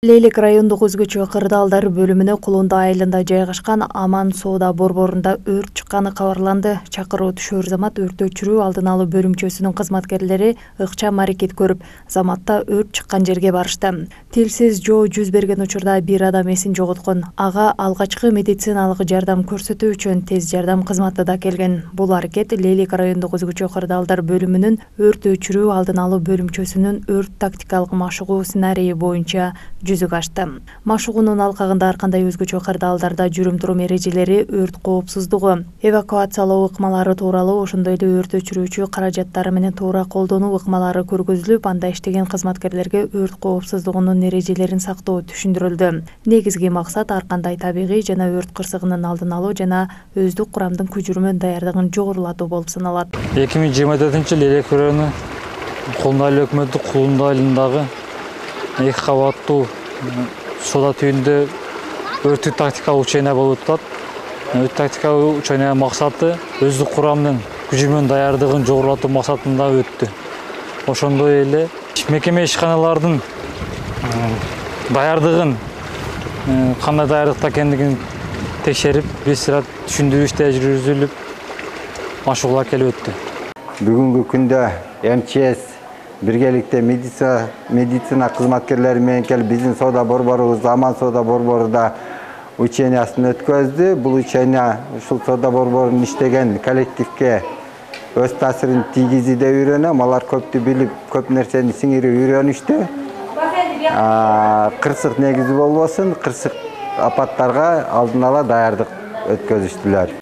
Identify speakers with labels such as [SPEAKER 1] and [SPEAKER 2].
[SPEAKER 1] Лейлек райондук өзгөчө кырдаалдар бөлүмүнө Кулунда айылында жайгашкан Аман соода борборунда өрт чыкканы кабарланды. Чакыруу түшөр замат өрт өчүрүү алдын алуу бөлүмчөсүнүн кызматкерлери ыкчам аракет көрүп, заматта өрт чыккан жерге барышты. Тилсиз жоо жүз берген учурда бир адам эсин жоготкон. Ага алгачкы медициналык жардам көрсөтүү үчүн тез жардам кызматы да келген. Бул аракет Лейлек райондук өзгөчө кырдаалдар бөлүмүнүн өрт өчүрүү алдын алуу бөлүмчөсүнүн өрт тактикалык машыгуу сценарийи боюнча жүзүгө ашты. Машыгуунун алкагында ар кандай өзгөчө кырдаалдарда жүрүм-турум эрежелери, өрт коопсуздугу, эвакуациялоо ыкмалары тууралуу, ошондой эле өрт өчүрүүчү каражаттары менен туура колдонуу ыкмалары көргөзүлүп, анда иштеген кызматкерлерге өрт коопсуздугунун эрежелерин сактоо түшүндүрүлдү. Негизги максат ар кандай табигый жана өрт кырсыгынын алдын алуу жана өздүк курамдын көчүрмө даярдыгын жогорулатуу болуп саналат.
[SPEAKER 2] 2024-жылы Лейлек району Кулунда айыл өкмөтү Кулунда айылындагы 2 кабаттуу соода түйүндө өрттүк тактикалык учейна болуп атат. Өрт тактикалык учейнанын максаты өздүк курамдын көчүрмө даярдыгын жогорулатуу максатында өттү. Ошондой эле мекеме ишканалардын даярдыгын кандай даярдыкта экендигин текшерип, бир түшүндүрүү иштери жүргүзүлүп, машыгуулар келип өттү.
[SPEAKER 3] Бүгүнкү күндө МЧС биргеликте медицина кызматкерлери менен келип биздин соода борборубуз Аман соода борборунда учениясын өткөздү. Бул учения ушул соода борборунун иштеген коллективге өз таасирин тийгизди деп үйрөнөм. Алар көптү билип, көп нерсени сиңирип үйрөнүштү. Кырсык негизи болбосун, кырсык апаттарга алдын ала даярдык өткөзүштүлөр.